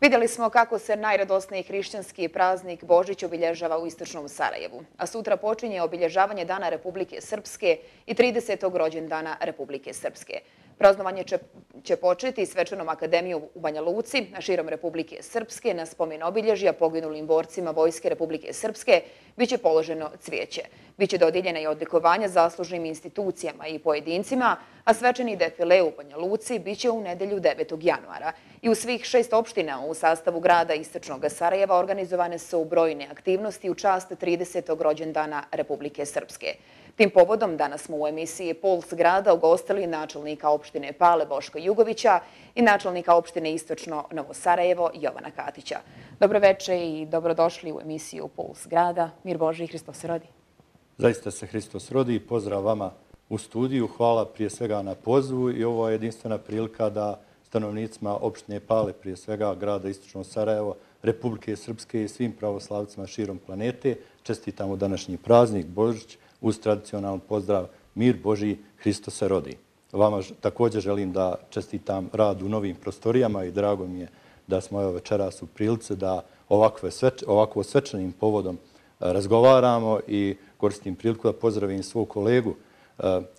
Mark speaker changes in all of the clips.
Speaker 1: Vidjeli smo kako se najradosniji hrišćanski praznik Božić obilježava u istočnom Sarajevu, a sutra počinje obilježavanje Dana Republike Srpske i 30. rođendana Republike Srpske. Praznovanje će početi svečanom akademijom u Banja Luci, a širom Republike Srpske na spomen obilježja poginulim borcima Vojske Republike Srpske biće položeno cvijeće. Biće dodijeljena i odlikovanja zaslužnim institucijama i pojedincima, a svečani defile u Banja Luci biće u nedelju 9. januara. I u svih 6 opština u sastavu grada istočnog Sarajeva organizovane su brojne aktivnosti u čast 30. rođendana Republike Srpske. Tim povodom danas smo u emisiji Puls grada ugostili načelnika opštine Pale Boška Jugovića i načelnika opštine Istočno Novo Sarajevo Jovana Katića. Dobroveče i dobrodošli u emisiju Puls grada. Mir Boži i Hristos se rodi.
Speaker 2: Zaista se Hristos rodi. Pozdrav vama u studiju. Hvala prije svega na pozivu i ovo je jedinstvena prilika da stanovnicima opštine Pale, prije svega grada Istočno Sarajevo, Republike Srpske i svim pravoslavcima širom planete čestitamo današnji praznik Božić uz tradicionalan pozdrav Mir Božji, Hristos se rodi. Vama također želim da čestitam rad u novim prostorijama i drago mi je da smo večeras u prilici da ovako svečanim povodom razgovaramo i koristim priliku da pozdravim svog kolegu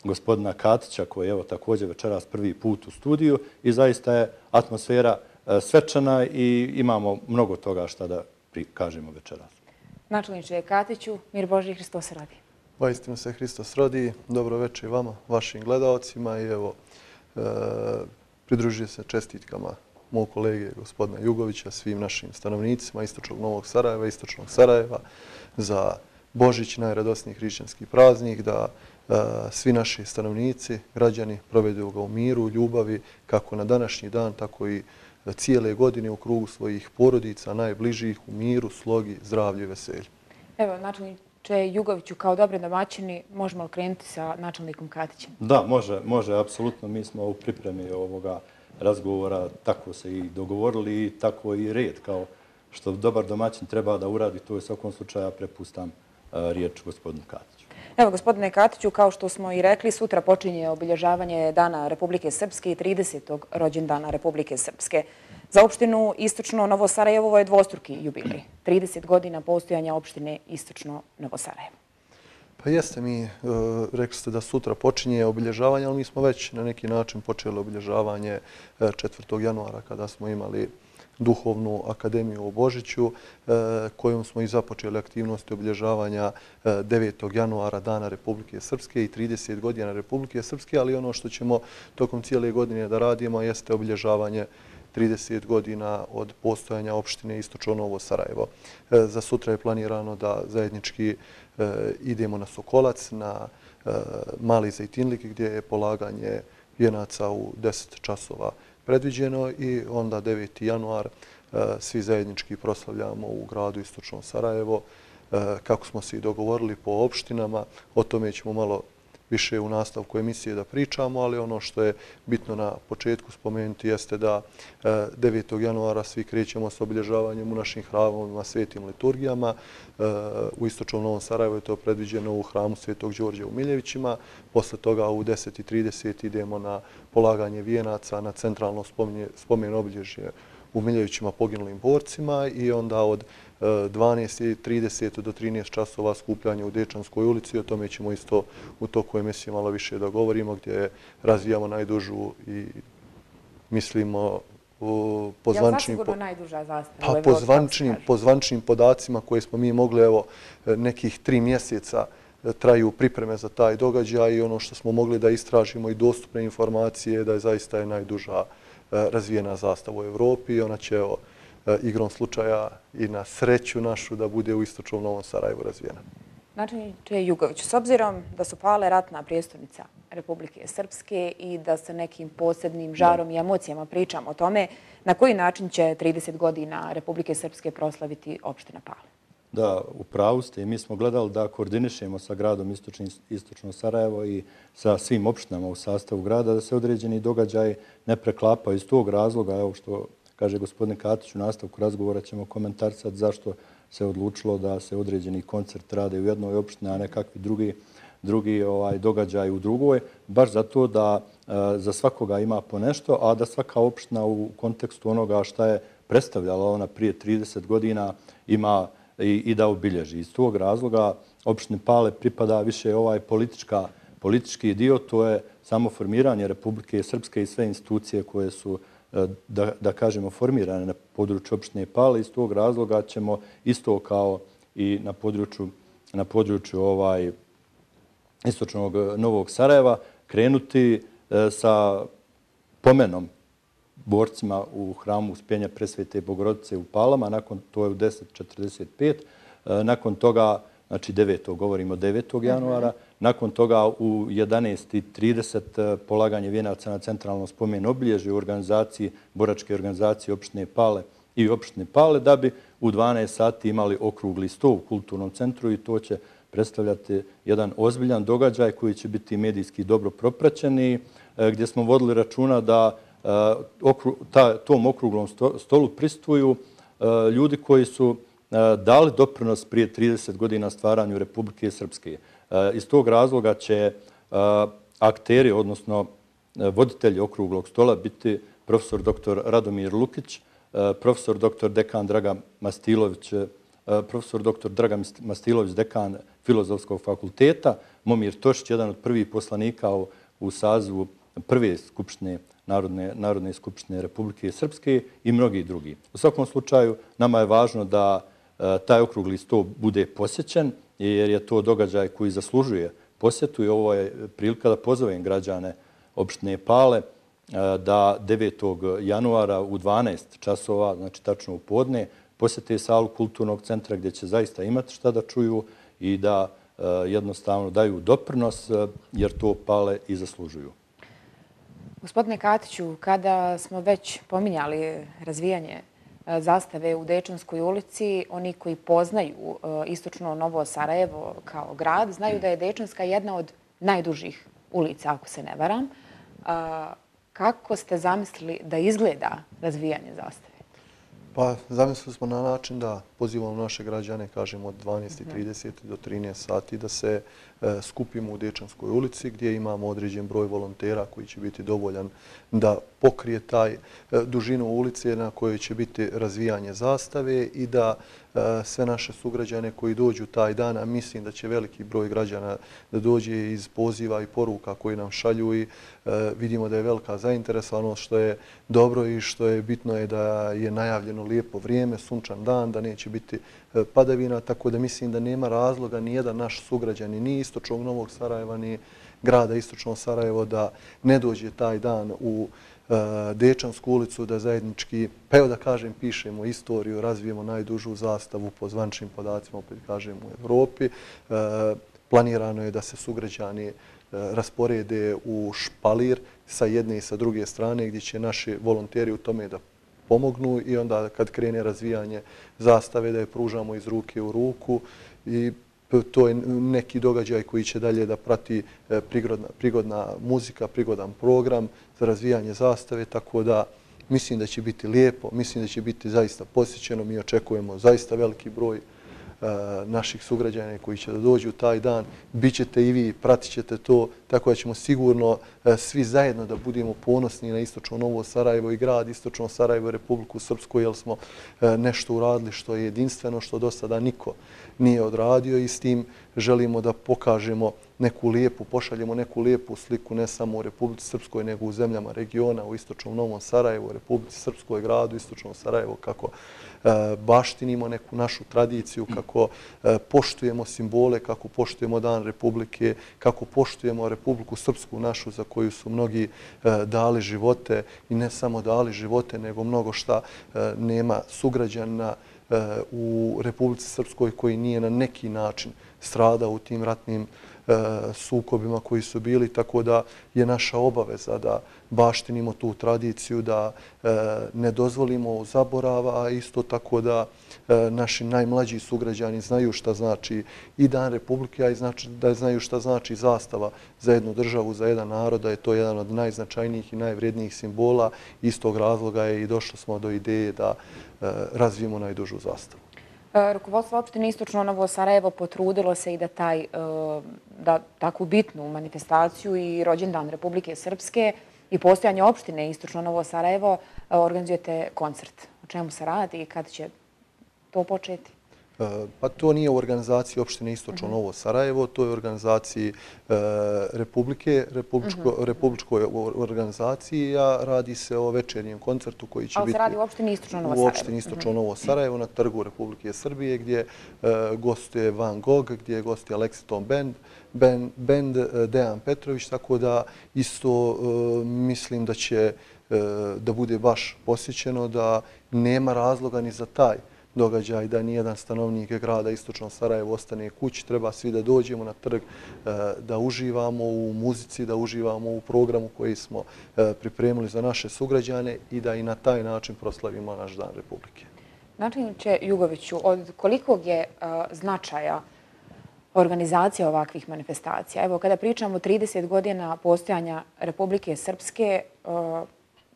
Speaker 2: gospodina Katića koji je također večeras prvi put u studiju i zaista je atmosfera svečana i imamo mnogo toga šta da kažemo večeras.
Speaker 1: Načelniče Katiću, Mir Boži i Hristos se rodi.
Speaker 3: Vaistinu se Hristos rodi. Dobro večer vama, vašim gledalcima i evo, pridružujem se čestitkama mog kolege gospodina Jugovića, svim našim stanovnicima Istočnog Novog Sarajeva, Istočnog Sarajeva za Božić, najradosniji hrišćanski praznik, da svi naši stanovnici, građani provedu ga u miru, ljubavi, kako na današnji dan, tako i cijele godine u krugu svojih porodica, najbližih, u miru, slogi, zdravlju i veselju.
Speaker 1: Evo, načelniče Jugoviću, kao dobri domaćini, možemo li krenuti sa načelnikom Katićem?
Speaker 2: Da, može, apsolutno. Mi smo u pripremi ovoga razgovora tako se i dogovorili i tako i red, kao što dobar domaćin treba da uradi, to je u svakom slučaju prepustam riječ gospodinu Katiću.
Speaker 1: Evo, gospodine Katiću, kao što smo i rekli, sutra počinje obilježavanje Dana Republike Srpske i 30. rođendana Republike Srpske. Za opštinu Istočno Novo Sarajevo je dvostruki jubilej. 30 godina postojanja opštine Istočno Novo Sarajevo.
Speaker 3: Pa jeste, mi rekli ste da sutra počinje obilježavanje, ali mi smo već na neki način počeli obilježavanje 4. januara kada smo imali duhovnu akademiju u Božiću, kojom smo i započeli aktivnosti obilježavanja 9. januara Dana Republike Srpske i 30 godina Republike Srpske, ali ono što ćemo tokom cijele godine da radimo jeste obilježavanje 30 godina od postojanja opštine Istočno Novo Sarajevo. Za sutra je planirano da zajednički idemo na Sokolac, na Mali Zejtinlik gdje je polaganje vijenaca u 10 časova predviđeno i onda 9. januar svi zajednički proslavljamo u gradu Istočno Sarajevo. Kako smo se i dogovorili po opštinama, o tome ćemo malo više u nastavku emisije da pričamo, ali ono što je bitno na početku spomenuti jeste da 9. januara svi krećemo s obilježavanjem u našim hramovima, svetim liturgijama. U Istočnom Novom Sarajevu je to predviđeno u hramu Svetog Đorđa u Miljevićima. Posle toga u 10:30 idemo na polaganje vijenaca na centralno spomen obilježje u Miljevićima poginulim borcima i onda od 12:30 do 13 časova skupljanje u Dečanskoj ulici. O tome ćemo isto u toku emisije malo više da govorimo, gdje razvijamo najdužu i mislimo po zvančnim podacima koje smo mi mogli, evo, nekih 3 mjeseca traju pripreme za taj događaj i ono što smo mogli da istražimo i dostupne informacije da je zaista najduža razvijena zastava u Evropi i ona će igrom slučaja i na sreću našu da bude u Istočnom Novom Sarajevu razvijena.
Speaker 1: Načelniče Jugović, s obzirom da su Pale ratna prijestolnica Republike Srpske i da sa nekim posebnim žarom i emocijama pričamo o tome, na koji način će 30 godina Republike Srpske proslaviti opština Pale?
Speaker 2: Da, u pravu ste i mi smo gledali da koordinišemo sa gradom Istočno Sarajevo i sa svim opštinama u sastavu grada da se određeni događaj ne preklapaju. Iz tog razloga, evo što kaže gospodin Katić, u nastavku razgovora ćemo komentarisati zašto se odlučilo da se određeni koncert rade u jednoj opštini, a ne kakvi drugi drugi događaj u drugoj, baš zato da za svakoga ima po nešto, a da svaka opština u kontekstu onoga šta je predstavljala ona prije 30 godina ima i da obilježi. Iz tog razloga opštini Pale pripada više politički dio, to je samo formiranje Republike Srpske i sve institucije koje su, da kažemo, formirane na području opštine Pale. Iz tog razloga ćemo isto kao i na području istočnog Novog Sarajeva krenuti sa pomenom borcima u hramu Uspjenja Presvete Bogorodice u Palama, to je u 10:45. Nakon toga, znači 9. govorimo 9. januara, nakon toga u 11:30 polaganje vijenaca na centralnom spomen obilježju u organizaciji, boračke organizacije opštine Pale i opštine Pale, da bi u 12 sati imali okrugli sto u kulturnom centru i to će predstavljati jedan ozbiljan događaj koji će biti medijski dobro propraćen i gdje smo vodili računa da tom okruglom stolu pristuju ljudi koji su dali doprinos prije 30 godina stvaranju Republike Srpske. Iz tog razloga će akteri, odnosno voditelji okruglog stola biti profesor dr. Radomir Lukić, profesor dr. dekan Dragan Mastilović, profesor dr. Dragan Mastilović, dekan Filozofskog fakulteta, Momir Tošić, jedan od prvih poslanika u sazivu prve skupštine Narodne skupštine Republike Srpske i mnogi drugi. U svakom slučaju, nama je važno da taj okrugli sto bude posjećen, jer je to događaj koji zaslužuje posjetu i ovo je prilika da pozovem građane opštine Pale da 9. januara u 12 časova, znači tačno u podne, posjete salu kulturnog centra gdje će zaista imati šta da čuju i da jednostavno daju doprinos, jer to Pale i zaslužuju.
Speaker 1: Gospodine Katiću, kada smo već pominjali razvijanje zastave u Dečanskoj ulici, oni koji poznaju istočno Novo Sarajevo kao grad, znaju da je Dečanska jedna od najdužih ulica, ako se ne varam. Kako ste zamislili da izgleda razvijanje zastave?
Speaker 3: Pa zamislili smo na način da pozivamo naše građane, kažemo od 12:30 do 13 sati, da se skupimo u Dečanskoj ulici gdje imamo određen broj volontera koji će biti dovoljan da pokrije taj dužinu ulice na kojoj će biti razvijanje zastave i da sve naše sugrađane koji dođu taj dan, a mislim da će veliki broj građana da dođe iz poziva i poruka koji nam šalju i vidimo da je velika zainteresovanost, što je dobro i što je bitno je da je najavljeno lijepo vrijeme, sunčan dan, da neće biti padavina, tako da mislim da nema razloga ni jedan naš sugrađani, ni istočnog Novog Sarajeva, ni grada istočnog Sarajevo da ne dođe taj dan u Dečansku ulicu, da zajednički, pa evo da kažem, pišemo istoriju, razvijemo najdužu zastavu po zvančnim podacima, opet kažem, u Evropi. Planirano je da se sugrađani rasporede u špalir sa jedne i sa druge strane, gdje će naši volonteri u tome da pomognu i onda kad krene razvijanje zastave da je pružamo iz ruke u ruku i to je neki događaj koji će dalje da prati prigodna muzika, prigodan program za razvijanje zastave, tako da mislim da će biti lijepo, mislim da će biti zaista posjećeno. Mi očekujemo zaista veliki broj naših sugrađana koji će da dođu taj dan. Bićete i vi, pratit ćete to, tako da ćemo sigurno svi zajedno da budemo ponosni na istočno Novo Sarajevo i grad istočno Sarajevo i Republiku Srpsku, jer smo nešto uradili što je jedinstveno, što do sada niko nije odradio i s tim želimo da pokažemo neku lijepu, pošaljemo neku lijepu sliku ne samo u Republici Srpskoj, nego u zemljama regiona, u istočnom Novom Sarajevu, u Republici Srpskoj, gradu istočnom Sarajevo, kako baštinimo neku našu tradiciju, kako poštujemo simbole, kako poštujemo Dan Republike, kako poštujemo Republiku Srpsku našu za koju su mnogi dali živote i ne samo dali živote, nego mnogo šta nema sugrađana u Republici Srpskoj koji nije na neki način stradao u tim ratnim sukobima koji su bili, tako da je naša obaveza da baštinimo tu tradiciju, da ne dozvolimo zaborava, a isto tako da naši najmlađi sugrađani znaju šta znači i Dan Republike, a i da znaju šta znači zastava za jednu državu, za jedan narod, da je to jedan od najznačajnijih i najvrijednijih simbola. Iz tog razloga je i došli smo do ideje da razvijemo najdužu zastavu.
Speaker 1: Rukovodstvo opštine Istočno Novo Sarajevo potrudilo se i da takvu bitnu manifestaciju i rođendan Republike Srpske i postojanje opštine Istočno Novo Sarajevo organizujete koncert. O čemu se radi i kada će to početi?
Speaker 3: Pa to nije u organizaciji opštine Istočno Novo Sarajevo, to je u organizaciji republičkoj organizaciji, a radi se o večernjem koncertu koji će biti...
Speaker 1: Ali se radi u opštini Istočno Novo Sarajevo.
Speaker 3: U opštini Istočno Novo Sarajevo na Trgu Republike Srbije gdje gostuje Van Gogh, gdje gostuje Lexington Band, Dejan Petrović, tako da isto mislim da će da bude baš posjećeno, da nema razloga ni za taj događaj da nijedan stanovnik grada Istočno Sarajevo ostane kući. Treba svi da dođemo na trg, da uživamo u muzici, da uživamo u programu koji smo pripremili za naše sugrađane i da i na taj način proslavimo naš Dan Republike.
Speaker 1: Načelniče Jugoviću, od kolikog je značaja organizacija ovakvih manifestacija? Evo, kada pričamo o 30 godina postojanja Republike Srpske,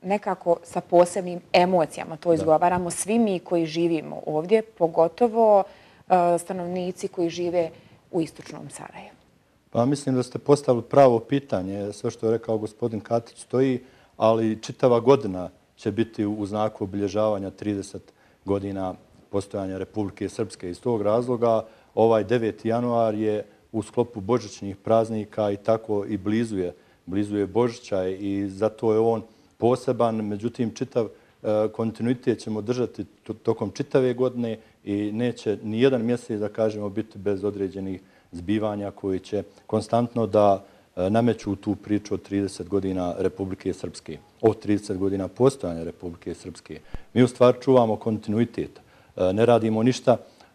Speaker 1: nekako sa posebnim emocijama to izgovaramo svi mi koji živimo ovdje, pogotovo stanovnici koji žive u Istočnom Sarajevu.
Speaker 2: Pa mislim da ste postavili pravo pitanje. Sve što je rekao gospodin Katić stoji, ali čitava godina će biti u znaku obilježavanja 30 godina postojanja Republike Srpske. Iz tog razloga ovaj 9. januar je u sklopu božićnih praznika i tako i blizu je Božića i zato je on poseban. Međutim, čitav kontinuitet ćemo držati tokom čitave godine i neće ni jedan mjesec, da kažemo, biti bez određenih zbivanja koji će konstantno da nameću tu priču od 30 godina Republike Srpske, od 30 godina postojanja Republike Srpske. Mi u stvari čuvamo kontinuitet. Ne radimo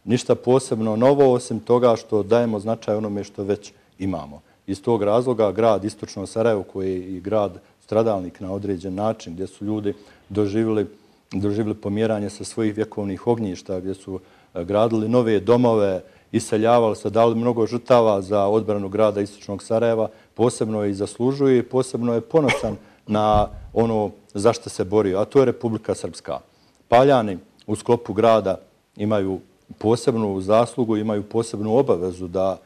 Speaker 2: ništa posebno novo, osim toga što dajemo značaj onome što već imamo. Iz tog razloga grad Istočno Sarajevo, koji je i grad stradalnik na određen način, gdje su ljudi doživjeli pomjeranje sa svojih vjekovnih ognjišta, gdje su gradili nove domove, iseljavali se, dali mnogo žrtava za odbranu grada Istočnog Sarajeva, posebno je i zaslužuje i posebno je ponosan na ono za što se borio, a to je Republika Srpska. Paljani u sklopu grada imaju posebnu zaslugu, imaju posebnu obavezu da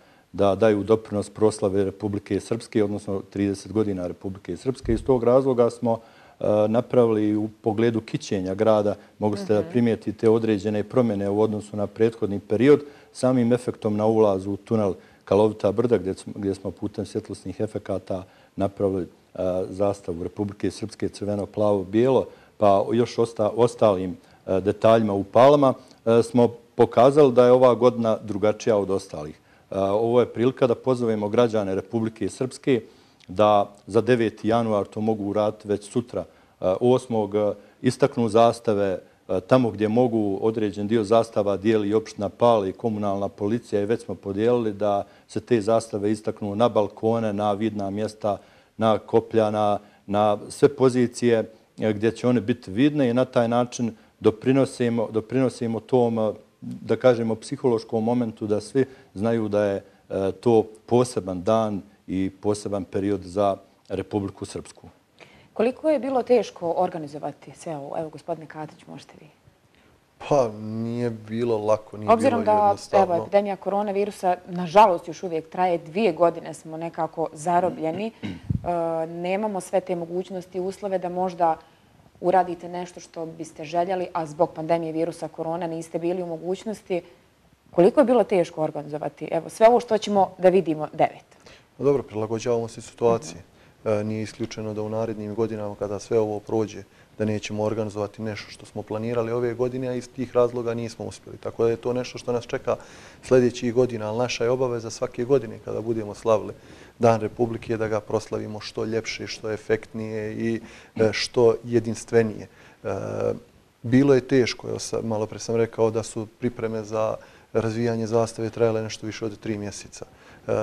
Speaker 2: daju doprinos proslave Republike Srpske, odnosno 30 godina Republike Srpske. Iz tog razloga smo napravili u pogledu kićenja grada, mogu ste da primijetite određene promjene u odnosu na prethodni period, samim efektom na ulazu u tunel Kalovita brda, gdje smo putem svjetlosnih efekata napravili zastavu Republike Srpske crveno-plavo-bijelo, pa još ostalim detaljima u palama, smo pokazali da je ova godina drugačija od ostalih. Ovo je prilika da pozovemo građane Republike Srpske da za 9. januar to mogu uraditi već sutra. 8. istaknu zastave tamo gdje mogu. Određen dio zastava dijeli i opština Pale i komunalna policija i već smo podijelili da se te zastave istaknu na balkone, na vidna mjesta, na koplja, na sve pozicije gdje će one biti vidne i na taj način doprinosimo tom, da kažemo, psihološkom momentu da svi znaju da je to poseban dan i poseban period za Republiku Srpsku.
Speaker 1: Koliko je bilo teško organizovati sve ovo? Evo, gospodine Katić, možete vi.
Speaker 3: Pa nije bilo lako, nije bilo
Speaker 1: jednostavno. Obzirom da epidemija koronavirusa, nažalost, još uvijek traje 2 godine, smo nekako zarobljeni. Nemamo sve te mogućnosti i uslove da možda uradite nešto što biste željeli, a zbog pandemije virusa korona niste bili u mogućnosti. Koliko je bilo teško organizovati sve ovo što ćemo da vidimo 9?
Speaker 3: Dobro, prilagođavamo se situaciji. Nije isključeno da u narednim godinama, kada sve ovo prođe, da nećemo organizovati nešto što smo planirali ove godine, a iz tih razloga nismo uspjeli. Tako da je to nešto što nas čeka sljedećih godina, ali naša je obaveza svake godine kada budemo slavili Dan Republike da ga proslavimo što ljepše, što efektnije i što jedinstvenije. Bilo je teško, malo pre sam rekao da su pripreme za razvijanje zastave trajale nešto više od 3 mjeseca.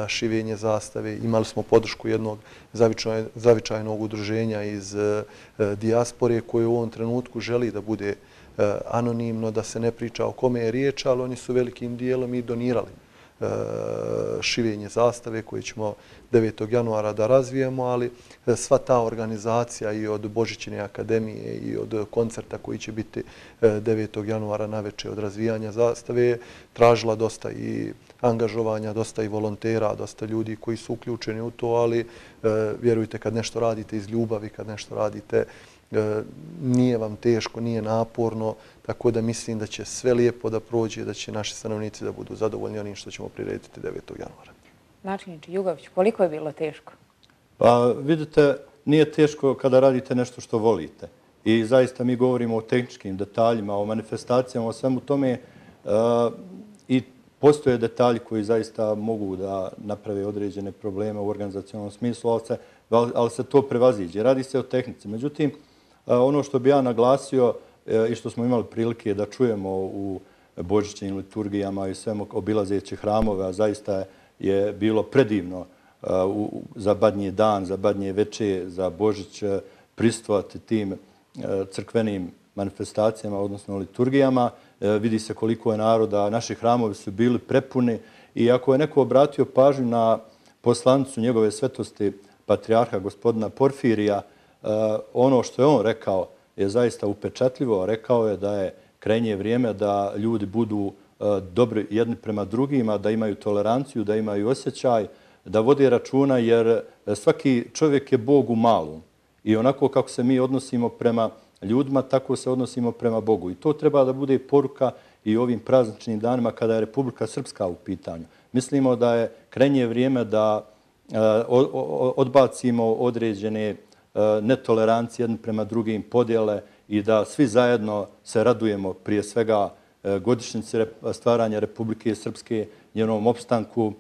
Speaker 3: Šivenje zastave, imali smo podršku jednog zavičajnog udruženja iz dijaspore koje u ovom trenutku želi da bude anonimno, da se ne priča o kome je riječ, ali oni su velikim dijelom i donirali šivenje zastave koje ćemo 9. januara da razvijemo, ali sva ta organizacija i od Božićne akademije i od koncerta koji će biti 9. januara naveče od razvijanja zastave je tražila dosta i angažovanja, dosta i volontera, dosta ljudi koji su uključeni u to, ali vjerujte kad nešto radite iz ljubavi, kad nešto radite nije vam teško, nije naporno, tako da mislim da će sve lijepo da prođe, da će naši stanovnici da budu zadovoljni onim što ćemo prirediti 9. januara.
Speaker 1: Načelniče Jugović, koliko je bilo teško?
Speaker 2: Pa vidite, nije teško kada radite nešto što volite. I zaista mi govorimo o tehničkim detaljima, o manifestacijama, o svemu tome i postoje detalji koji zaista mogu da naprave određene probleme u organizacionalnom smislu, ali se to prevaziđe. Radi se o tehnici. Međutim, ono što bi ja naglasio i što smo imali prilike da čujemo u božićnim liturgijama i svemu obilazeći hramove, a zaista je bilo predivno za Badnji dan, za Badnje veče, za Božić prisustvovati tim crkvenim manifestacijama, odnosno liturgijama. Vidi se koliko je naroda, naši hramovi su bili prepuni i ako je neko obratio pažnju na poslanicu njegove svetosti patrijarha gospodina Porfirija, ono što je on rekao je zaista upečatljivo. Rekao je da je krajnje vrijeme da ljudi budu dobri jedni prema drugima, da imaju toleranciju, da imaju osjećaj, da vode računa, jer svaki čovjek je Bog u malom. I onako kako se mi odnosimo prema ljudima, tako se odnosimo prema Bogu. I to treba da bude poruka i ovim prazničnim danima kada je Republika Srpska u pitanju. Mislimo da je krajnje vrijeme da odbacimo određene netolerancije jedni prema drugim, podjele i da svi zajedno se radujemo prije svega godišnjici stvaranja Republike Srpske, njenom opstanku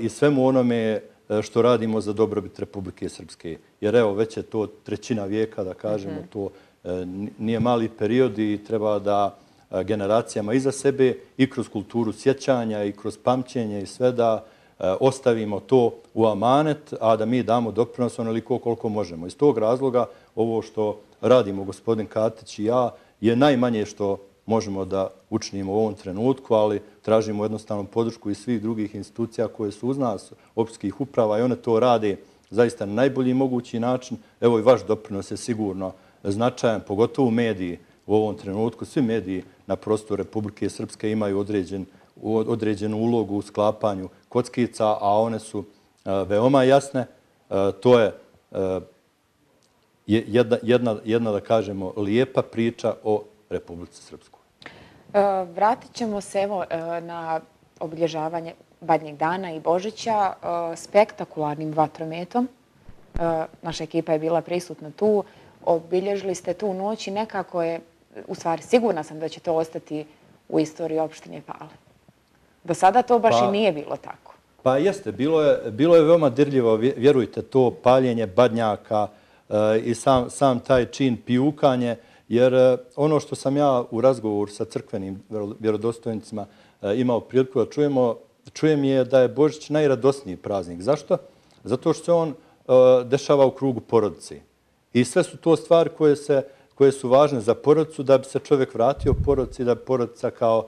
Speaker 2: i svemu onome što radimo za dobrobit Republike Srpske. Jer evo, već je to 1/3 vijeka, da kažemo, to nije mali period i treba da generacijama iza sebe i kroz kulturu sjećanja i kroz pamćenje i sve da ostavimo to u amanet, a da mi damo doprinos onoliko koliko možemo. Iz tog razloga ovo što radimo gospodin Katić i ja je najmanje što možemo da učinimo u ovom trenutku, ali tražimo jednostavno podršku i svih drugih institucija koje su uz nas, općinskih uprava, i one to rade zaista na najbolji mogući način. Evo i vaš doprinos je sigurno značajan, pogotovo mediji u ovom trenutku. Svi mediji na prostoru Republike Srpske imaju određenu ulogu u sklapanju kockica, a one su veoma jasne. To je jedna, da kažemo, lijepa priča o Republici Srpskoj.
Speaker 1: Vratit ćemo se evo na obilježavanje Badnjeg dana i Božića spektakularnim vatrometom. Naša ekipa je bila prisutna tu. Obilježili ste tu noć i nekako je, u stvari sigurna sam da će to ostati u istoriji opštine Pale. Do sada to baš i nije bilo tako.
Speaker 2: Pa jeste, bilo je veoma dirljivo, vjerujte, to paljenje badnjaka i sam taj čin pijukanje, jer ono što sam ja u razgovoru sa crkvenim vjerodostojnicima imao priliku da čujem je da je Božić najradosniji praznik. Zašto? Zato što se on dešava u krugu porodice. I sve su to stvari koje su važne za porodicu, da bi se čovjek vratio porodici, da bi porodica kao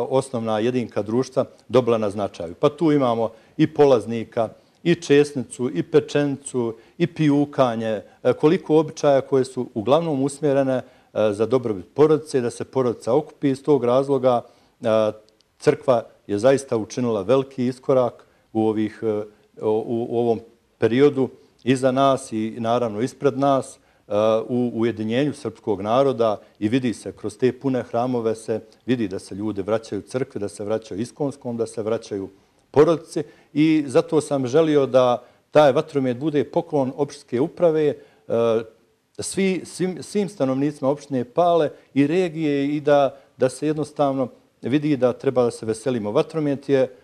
Speaker 2: osnovna jedinka društva dobila na značaju. Pa tu imamo i polaznika, i česnicu, i pečenicu, i pijukanje, koliko običaja koje su uglavnom usmjerene za dobrobit porodice, da se porodica okupi. Iz tog razloga crkva je zaista učinila veliki iskorak u ovom periodu iza nas i naravno ispred nas u ujedinjenju srpskog naroda i vidi se kroz te pune hramove se vidi da se ljudi vraćaju crkvi, da se vraćaju iskonskom, da se vraćaju porodici i zato sam želio da taj vatromet bude poklon opštinske uprave svim stanovnicima opštine Pale i regije i da se jednostavno vidi da treba da se veselimo. Vatromet je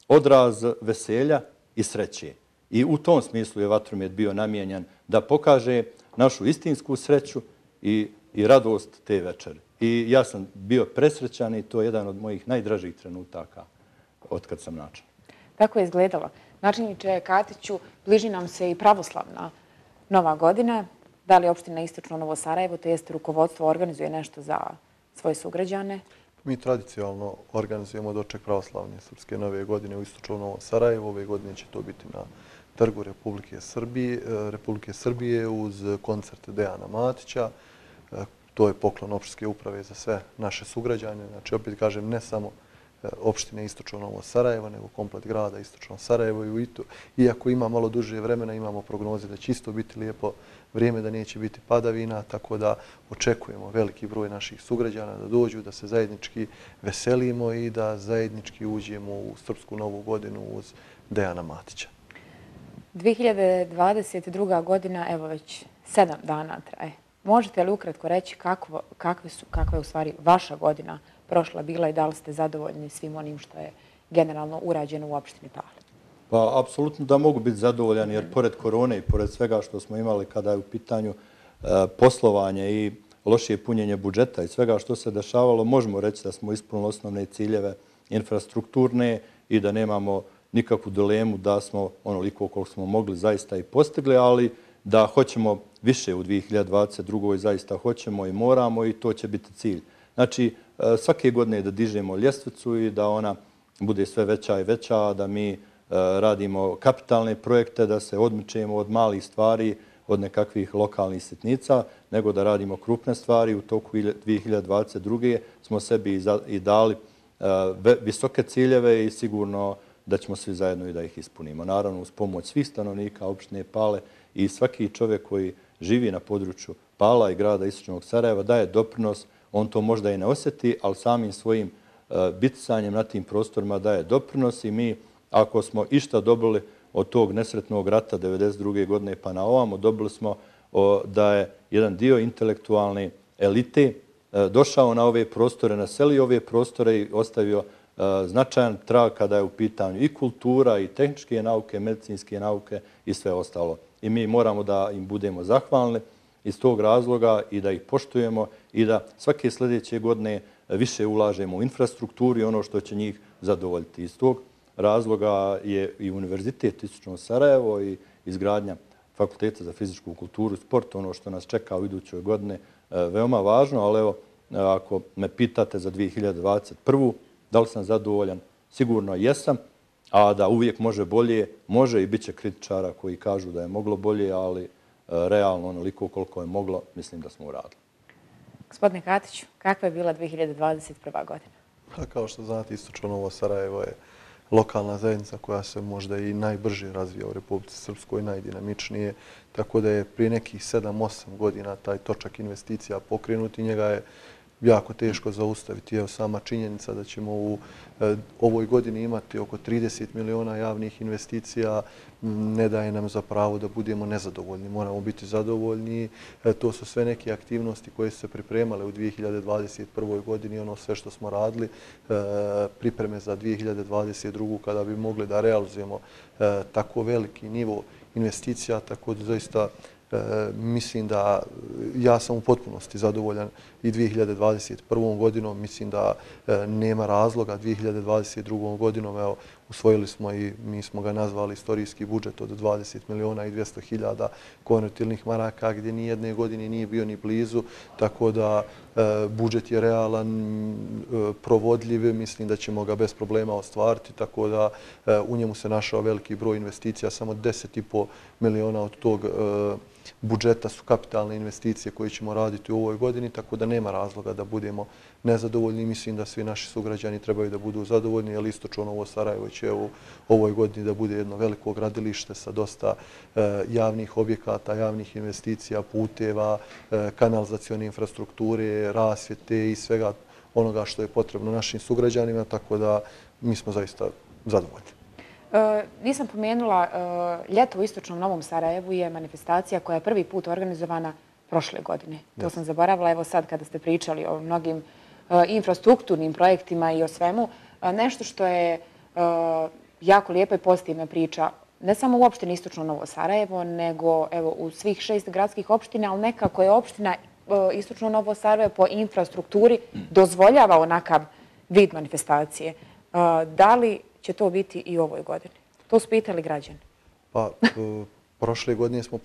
Speaker 2: odraz veselja i sreće. I u tom smislu je vatromet bio namijenjen da pokaže našu istinsku sreću i radost te večeri. I ja sam bio presrećan i to je jedan od mojih najdražih trenutaka otkad sam načelnik.
Speaker 1: Tako je izgledalo. Načelniče Katiću, bliži nam se i pravoslavna Nova godina. Da li opština Istočno Novo Sarajevo, to jest rukovodstvo, organizuje nešto za svoje sugrađane?
Speaker 3: Mi tradicionalno organizujemo doček pravoslavne srpske nove godine u istočnom Novom Sarajevu. Ove godine će to biti na Trgu Republike Srbije uz koncert Dejana Matića. To je poklon opštinske uprave za sve naše sugrađane. Znači, opet kažem, ne samo opštine istočno Novo Sarajevo, nego komplet grada istočno Sarajevo. Iako ima malo duže vremena, imamo prognoze da će isto biti lijepo vrijeme, da neće biti padavina, tako da očekujemo veliki broj naših sugrađana da dođu, da se zajednički veselimo i da zajednički uđemo u Srpsku novu godinu uz Dejana Matića.
Speaker 1: 2022. godina, evo već 7 dana traje. Možete li ukratko reći kakva je u stvari vaša godina prošla bila i da li ste zadovoljni svim onim što je generalno urađeno u opštini Pale?
Speaker 2: Pa, apsolutno da mogu biti zadovoljan, jer pored korone i pored svega što smo imali kada je u pitanju poslovanje i lošije punjenje budžeta i svega što se dešavalo, možemo reći da smo ispunili osnovne ciljeve infrastrukturne i da nemamo nikakvu dilemu da smo onoliko koliko smo mogli zaista i postigli, ali da hoćemo više u 2022. zaista hoćemo i moramo i to će biti cilj. Znači, svake godine da dižemo ljestvicu i da ona bude sve veća i veća, da mi radimo kapitalne projekte, da se odmičemo od malih stvari, od nekakvih lokalnih sitnica, nego da radimo krupne stvari. U toku 2022. smo sebi i dali visoke ciljeve i sigurno da ćemo svi zajedno i da ih ispunimo. Naravno, uz pomoć svih stanovnika opštine Pale i svaki čovjek koji živi na području Pala i grada istočnog Sarajeva daje doprinos. On to možda i ne osjeti, ali samim svojim bitisanjem na tim prostorima daje doprinos i mi, ako smo išta dobili od tog nesretnog rata 1992. godine pa na ovamo, dobili smo da je jedan dio intelektualne elite došao na ove prostore, naselio ove prostore i ostavio značajan trag kada je u pitanju i kultura, i tehničke nauke, medicinske nauke i sve ostalo. I mi moramo da im budemo zahvalni iz tog razloga i da ih poštujemo i da svake sljedeće godine više ulažemo u infrastrukturu i ono što će njih zadovoljiti. Iz tog razloga je i Univerzitet istočno Sarajevo i izgradnja Fakulteta za fizičku kulturu i sport, ono što nas čeka u idućoj godine, veoma važno, ali evo, ako me pitate za 2021. da li sam zadovoljan, sigurno jesam, a da uvijek može bolje, može i bit će kritičara koji kažu da je moglo bolje, ali realno onoliko koliko je moglo, mislim da smo uradili.
Speaker 1: Gospodine Katiću, kakva je bila 2021. godina?
Speaker 3: Kao što znate, istočno Novo Sarajevo je lokalna zajednica koja se možda i najbrže razvija u Republici Srpskoj, najdinamičnije, tako da je prije nekih 7-8 godina taj točak investicija pokrenut i njega je jako teško zaustaviti. Evo sama činjenica da ćemo u ovoj godini imati oko 30 miliona javnih investicija ne daje nam za pravo da budemo nezadovoljni. Moramo biti zadovoljni. To su sve neke aktivnosti koje su se pripremale u 2021. godini, ono sve što smo radili, pripreme za 2022. kada bi mogli da realizujemo tako veliki nivo investicija, tako da zaista mislim da ja sam u potpunosti zadovoljan i 2021. godinom. Mislim da nema razloga 2022. godinom. Evo, usvojili smo i mi smo ga nazvali istorijski budžet od 20 miliona i 200 hiljada konvertibilnih maraka, gdje ni jedne godine nije bio ni blizu, tako da budžet je realan, provodljiv, mislim da ćemo ga bez problema ostvariti, tako da u njemu se našao veliki broj investicija, samo 10,5 miliona od tog budžeta su kapitalne investicije koje ćemo raditi u ovoj godini, tako da nema razloga da budemo nezadovoljni. Mislim da svi naši sugrađani trebaju da budu zadovoljni, jer istočno Novo Sarajevo će u ovoj godini da bude jedno veliko gradilište sa dosta javnih objekata, javnih investicija, puteva, kanalizacione infrastrukture, rasvjete i svega onoga što je potrebno našim sugrađanima, tako da mi smo zaista zadovoljni.
Speaker 1: Nisam pomenula, ljeto u istočnom Novom Sarajevu je manifestacija koja je prvi put organizovana prošle godine. To sam zaboravila, evo sad kada ste pričali o mnogim infrastrukturnim projektima i o svemu. Nešto što je jako lijepa i pozitivna priča, ne samo u opštini istočno Novo Sarajevo, nego evo u svih 6 gradskih opština, ali nekako je opština istočno Novo Sarajevo po infrastrukturi dozvoljava onakav vid manifestacije. Da li će to biti i u ovoj godini? To su pitali građani.
Speaker 3: Pa, prošle godine smo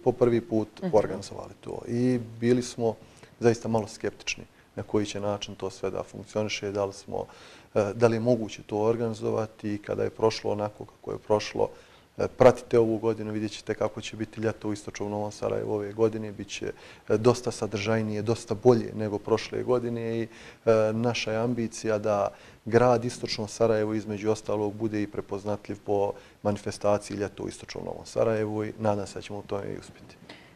Speaker 3: po prvi put organizovali to i bili smo zaista malo skeptični. na koji će način to sve da funkcioniše, da li je moguće to organizovati i kada je prošlo onako kako je prošlo. Pratite ovu godinu, vidjet ćete kako će biti ljeto u istočnom Novom Sarajevu ove godine. Biće dosta sadržajnije, dosta bolje nego prošle godine i naša je ambicija da grad istočno Sarajevo između ostalog bude i prepoznatljiv po manifestaciji ljeto u istočnom Novom Sarajevu i nadam se da ćemo u tome i uspjeti.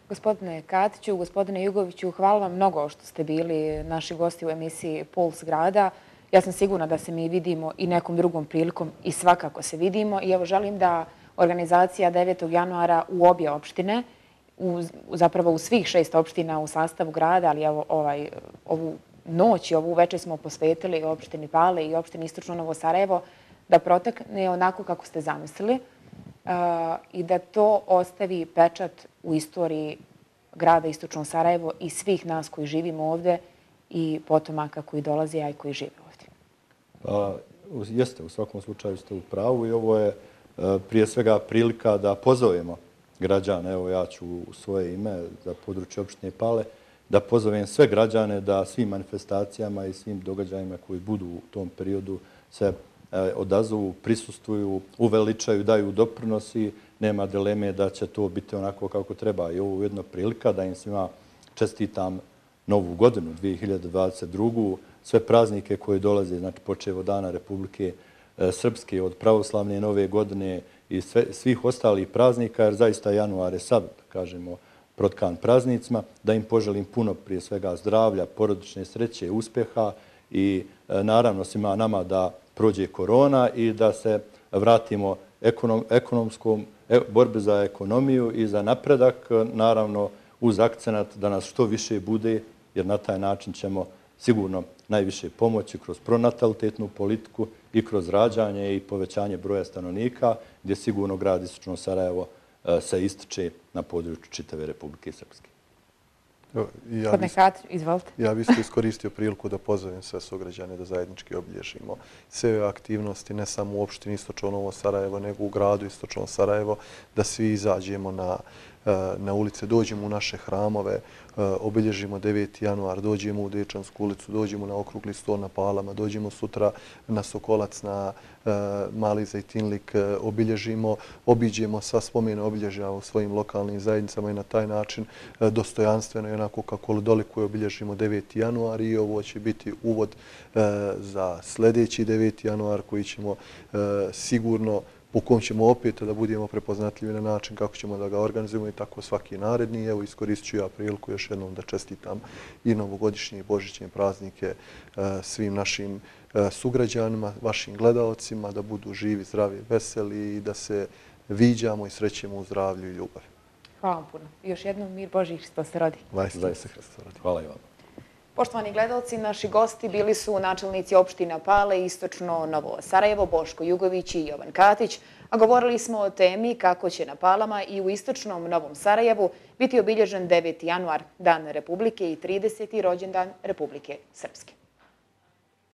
Speaker 1: Gospodine Katiću, gospodine Jugoviću, hvala vam mnogo što ste bili naši gosti u emisiji Puls grada. Ja sam sigurna da se mi vidimo i nekom drugom prilikom i svakako se vidimo. I evo želim da organizacija 9. januara u obje opštine, zapravo u svih 6 opština u sastavu grada, ali evo ovu noć i ovu večer smo posvetili opštini Pale i opštini Istočno Novo Sarajevo, da protekne onako kako ste zamislili i da to ostavi pečat u istoriji grada Istočno Sarajevo i svih nas koji živimo ovdje i potomaka koji dolaze, a i koji žive ovdje.
Speaker 2: Jeste, u svakom slučaju ste u pravu i ovo je prije svega prilika da pozovemo građane, evo ja ću u svoje ime za područje opštine Pale, da pozovem sve građane da svim manifestacijama i svim događajima koji budu u tom periodu se odazovu, prisustvuju, uveličaju, daju doprinosi. Nema dileme da će to biti onako kako treba. I ovo je ujedno prilika da im svima čestitam Novu godinu 2022. Sve praznike koje dolaze, znači počev od Dana Republike Srpske, od pravoslavne Nove godine i svih ostalih praznika, jer zaista januar je sav, kažemo, protkan praznicima, da im poželim puno prije svega zdravlja, porodične sreće, uspjeha i naravno svima nama da prođe korona i da se vratimo ekonomskom borbi za ekonomiju i za napredak, naravno uz akcenat da nas što više bude, jer na taj način ćemo sigurno najviše pomoći kroz pronatalitetnu politiku i kroz rađanje i povećanje broja stanovnika, gdje sigurno grad Istočno Sarajevo se ističe na području čitave Republike Srpske.
Speaker 1: Gospodine Katić, izvolite.
Speaker 3: Ja bih isto iskoristio priliku da pozovem sve sugrađane da zajednički obilježimo sve aktivnosti, ne samo u opštini Istočno Novo Sarajevo, nego u gradu Istočno Sarajevo, da svi izađemo na ulice, dođemo u naše hramove, obilježimo 9. januar, dođemo u Dečansku ulicu, dođemo na okrugli stol na Palama, dođemo sutra na Sokolac, na Mali Zajtinlik, obiđemo sva spomene obilježja u svojim lokalnim zajednicama i na taj način dostojanstveno i onako kako dolikuje obilježimo 9. januar i ovo će biti uvod za sljedeći 9. januar koji ćemo sigurno u kom ćemo opet da budemo prepoznatljivi na način kako ćemo da ga organizujemo i tako svaki naredni. Evo iskoristit ću ja priliku još jednom da čestitam i novogodišnje i božićne praznike svim našim sugrađanima, vašim gledaocima, da budu živi, zdravi, veseli i da se viđamo i srećemo u zdravlju i ljubavi.
Speaker 1: Hvala vam puno. Još jednom mir Božji Hristos se rodi.
Speaker 3: Zaista Hristos se rodi.
Speaker 2: Hvala i vam.
Speaker 1: Poštovani gledalci, naši gosti bili su načelnici opština Pale, Istočno Novo Sarajevo, Boško Jugović i Jovan Katić, a govorili smo o temi kako će na Palama i u Istočnom Novom Sarajevu biti obilježen 9. januar, Dan Republike i 30. rođendan Republike Srpske.